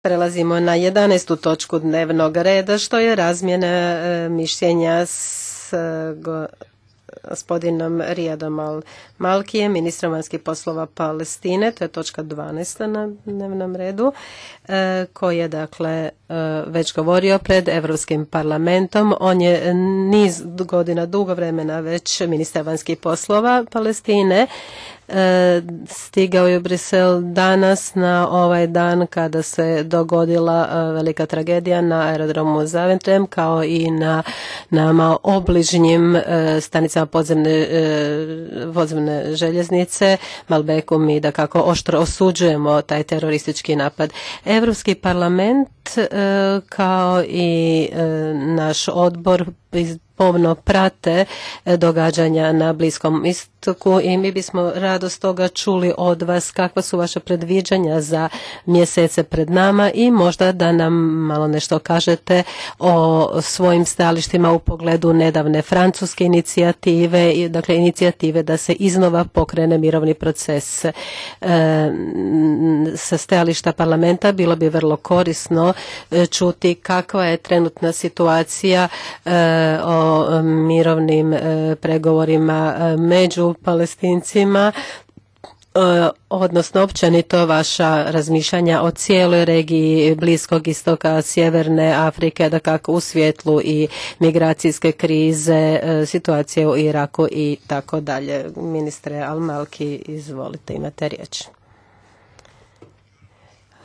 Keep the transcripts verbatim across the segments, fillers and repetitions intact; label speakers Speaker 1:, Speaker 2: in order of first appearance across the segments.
Speaker 1: Prelazimo na jedanaestu točku dnevnog reda, što je razmjena mišljenja s gospodinom Rijadom Al-Malkijem, ministrom vanjskih poslova Palestine. To je točka dvanaesta na dnevnom redu, koji je dakle već govorio pred Europskim parlamentom. On je niz godina, dugo vremena već ministar vanjskih poslova Palestine. Stigao je u Brisel danas na ovaj dan kada se dogodila velika tragedija na aerodromu Zaventem, kao i na nama obližnjim stanicama podzemne, podzemne željeznice Malbeku. Mi da kako oštro osuđujemo taj teroristički napad. Europski parlament kao i naš odbor pomno prate događanja na Bliskom istoku i mi bismo rado stoga čuli od vas kakva su vaša predviđanja za mjesece pred nama i možda da nam malo nešto kažete o svojim stajalištima u pogledu nedavne francuske inicijative, dakle inicijative da se iznova pokrene mirovni proces. E, sa stajališta parlamenta bilo bi vrlo korisno čuti kakva je trenutna situacija e, o mirovnim e, pregovorima e, među Palestincima, e, odnosno općenito vaša razmišljanja o cijeloj regiji Bliskog istoka, Sjeverne Afrike, da kako u svjetlu i migracijske krize, e, situacije u Iraku i tako dalje. Ministre Al-Malki, izvolite, imate riječ.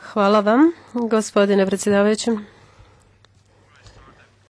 Speaker 1: Hvala vam, gospodine predsjedavajući.